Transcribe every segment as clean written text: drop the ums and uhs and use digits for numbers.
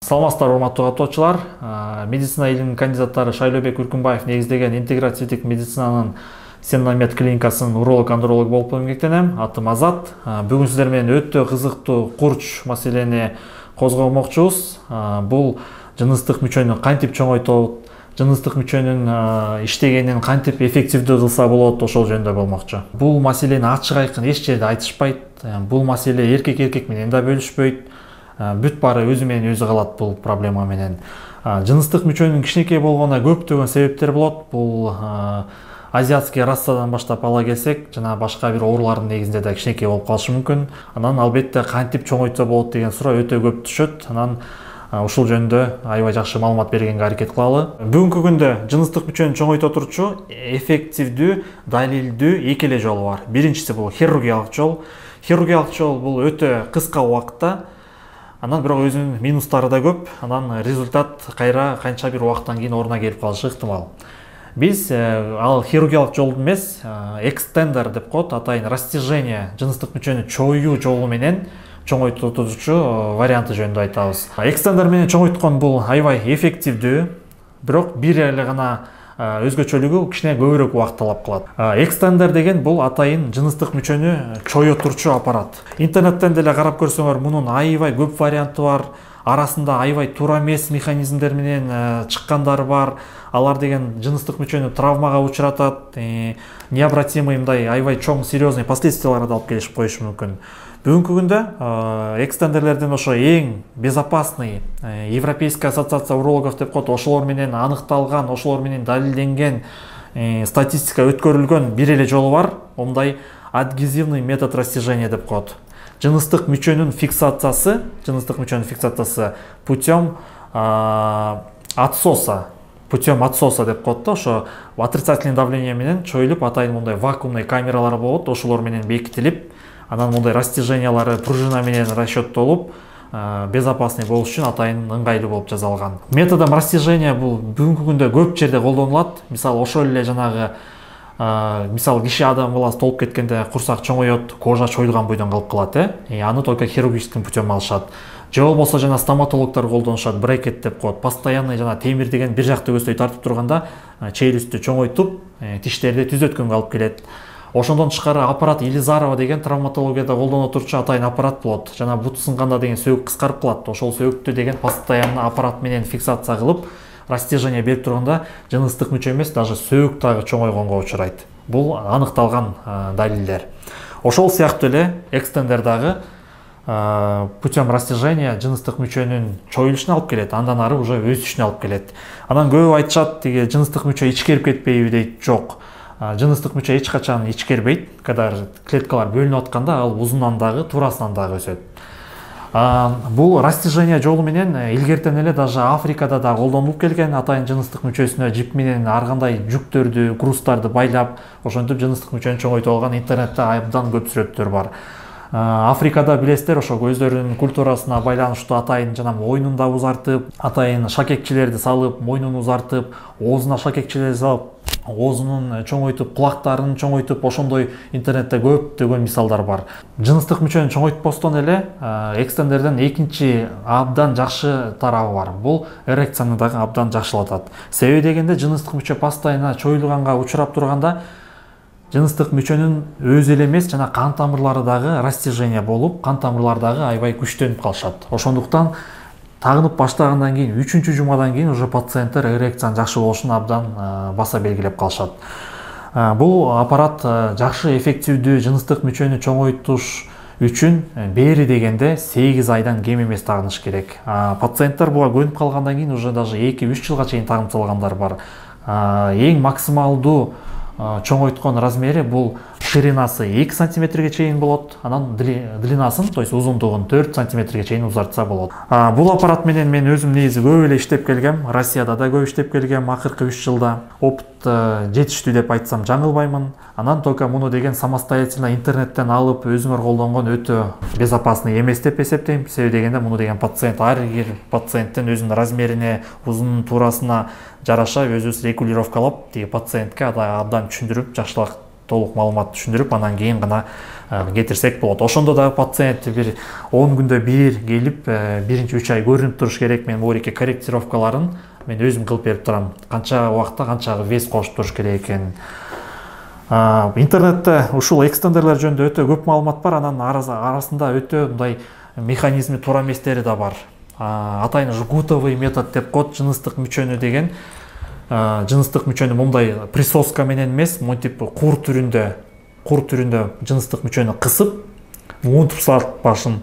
Саламатсыздар, урматтуу каттоочулар. Медицина илиминин кандидаттары Шайлообек Үркүнбаев негиздеген интегративдик медицинанын Сеннамед клиникасынын уролог-андролог болуп эмгектенем. Атым Азат. Бүгүн сиздер менен өтө кызыктуу курч маселени козгомокчубуз. Бул жыныстык мүчөнү кантип чоңойтот, жыныстык мүчөнүн иштегенин кантип эффективдүү кылса болот, ошол жөнүндө болмокчу. Бул маселени ачык айкын эч жерде айтышпайт. Бул маселе эркек менен да бөлүшпөйт. Бүт баары өзү менен өзү калат бул проблема менен. Жыныстык мүчөнүн кичинекей болгонуна көптөгөн себептер болот. Бул азиатский расадан баштап ала келсек, жана башка бир оорулардын негизинде да кичинекей болуп калышы мүмкүн. Анан албетте кантип чоңойтса болот деген суроо өтө көп түшөт. Анан ушул жөнүндө аябай жакшы маалымат бергенге аракет кылалы. Бүгүнкү күндө жыныстык мүчөнү чоңойто турчу эффективдүү, далилдүү эки эле жолу бар. Биринчиси бул хирургиялык жол. Хирургиялык жол бул өтө кыска убакытта, анан бирок өзүнүн минустары да көп. Анан результат кайра канча бир убакыттан кийин ордуна келип калышы ыктымал. Биз ал хирургиялык жолду эмес, экстендер деп коет, атайын растяжение, жыныстык мүчөнү чоюу жолу менен чоңойтуучу варианты жөнүндө айтабыз. Экстендер менен чоңойткон бул аябай эффективдүү, бирок бир эле гана өзгөчөлүгү кичине көбүрөөк убакыт талап кылат. Экстендер деген бул атайын жыныстык мүчөнү чое турчу аппарат. Интернеттен деле карап көрсөңөр, мунун аябай көп варианты бар. Арасында аябай туура эмес механизмдер менен чыккандары бар. Алар деген жыныстык мүчөнү травмага учуратат, необратимый мындай аябай чоң серьезный последствияларга алып келишип коюшу мүмкүн. Бүгүнкү күндө экстендерлерден ошо эң безопасный Европейская ассоциация урологов деп коет, ошолор менен аныкталган, ошолор менен далилденген, статистика өткөрүлгөн бир эле жолу бар. Мындай адгезивный метод растяжения деп коет. Жыныстык мүчөнүн фиксациясы путем отсоса. Путем отсоса деп коет да, ошо отрицательный давление менен чоюлуп, атайын мындай вакуумный камералар болот, ошолор менен бекитилип, анан мындай растяжениялары пружина менен расчеттолуп, безопасный болуш үчүн атайын ыңгайлуу болуп жасалган. Методом растяжения бул бүгүнкү күндө көп жерде колдонулат. Мисалы ошол эле жанагы киши адам баласы толуп кеткенде курсак чоңоет, кожа чоюлган бойдон калып калат, аны только хирургическим путем алышат. Же болбосо жана стоматологдор колдонушат, брекет деп коет. Постоянный жана темир деген бир жакты көздөй тартып турганда челюстү чоңойтуп, тиштерди түзөткөнгө алып келет. Ошондон тышкары аппарат Елизарова деген травматологияда колдоно турчу атайын аппарат болот. Жана бут сынганда деген сөөгүк кыскарып калат. Ошол сөөгүктү деген постоянно аппарат менен фиксация кылып, растяжение берип турганда жыныстык мүчө эмес, даже сөөгүк дагы чоңойгонго учурайт. Бул аныкталган далилдер. Ошол сыяктуу эле экстендер дагы путем растяжения жыныстык мүчөнүн чоюлушуна алып келет, андан ары уже өсүшүнө алып келет. Анан көбү айтышат, тиги жыныстык мүчө ичкерип кетпейби дейт. Жок. Жыныстык мүчө эч качан ичкербейт. Когда клеткалар бөлүнүп атканда ал узунан дагы, туурасынан дагы өсөт. Бул растяжение жолу менен илгертен эле даже Африкада да колдонулуп келген, атайын жыныстык мүчөсүнө жип менен ар кандай жүктөрдү, грузтарды байлап, ошентип жыныстык мүчөнү чоңойтуп алган интернетте абдан көп сүрөттөр бар. Африкада билесиздер, ошо өздөрүнүн культурасына байланыштуу атайын жана мойнун да узартып, атайын шакекчилерди салып, мойнун узартып, оозуна шакекчилерди салып, оозунун чоңойтуп, кулактарын чоңойтуп, ошондой интернетте көптөгөн мисалдар бар. Жыныстык мүчөнү чоңойтпостон эле экстендерден экинчи абдан жакшы тарабы бар. Бул эрекцияны дагы абдан жакшылатат. Себеби дегенде жыныстык мүчө постоянно чоюлганга учурап турганда жыныстык мүчөнүн өзү эле эмес, жана кан тамырлары дагы растяжение болуп, кан тамырлары дагы аябай күчтөнүп калышат. Ошондуктан тагынып баштагандан кийин, 3-чү жумадан кийин уже пациенттер эрекциянын жакшы болушун абдан баса белгилеп калышат. Бул аппарат жакшы эффективдүү жыныстык мүчөнү чоңойтуш үчүн бери дегенде 8 айдан кем эмес тагыныш керек. Пациенттер буга көнүп калгандан кийин уже даже 2-3 жылга чейин тагынталгандар бар. Эң максималдуу чоңойткон размери бул ширинасы 2 сантиметрге чейин болот, анан длинасын, то есть узундугун 4 сантиметрге чейин узартса болот. Бул аппарат менен мен өзүм негизи көп эле иштеп келгем, Россияда да көп иштеп келгем акыркы 3 жылда. Опыт жетиштүү деп айтсам жаңылбаймын. Анан только муну деген самостоятельно интернеттен алып, өзүңөр колдонгон өтө безопасный эмес деп эсептейм. Себеби дегенде муну деген пациент ар бир пациенттин өзүнүн размерине, узунун туурасына жараша өзүбүз регулировкалап, тиги пациентке абдан түшүндүрүп, жакшылап толук маалымат түшүндүрүп анан кийин гана кетирсек болот. Ошондо дагы пациент бир 10 күндө бир келип биринчи 3 ай көрүнүп туруш керек. Мен буреке корректировкаларын мен өзүм кылып берип турам. Канча убакта канча вес кошуп туруш керек экенин. Интернетте ушул экстендерлер жөнүндө өтө көп маалымат бар. Анан арасында өтө мындай механизми туура эместери да бар. Атайын жгутовый метод деп коет, жыныстык мүчөнү деген. Жыныстык мүчөнү мындай присоска менен эмес, монтип кур түрүндө жыныстык мүчөнү кысып, муунтуп салат башын.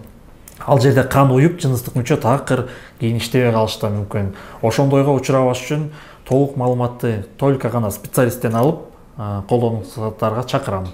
Ал жерде кан уюп, жыныстык мүчө такыр кийин иштебей калышы да мүмкүн. Ошондойго учурабаш үчүн толук маалыматты только гана специалисттен алып колдонуңуздарга чакырам.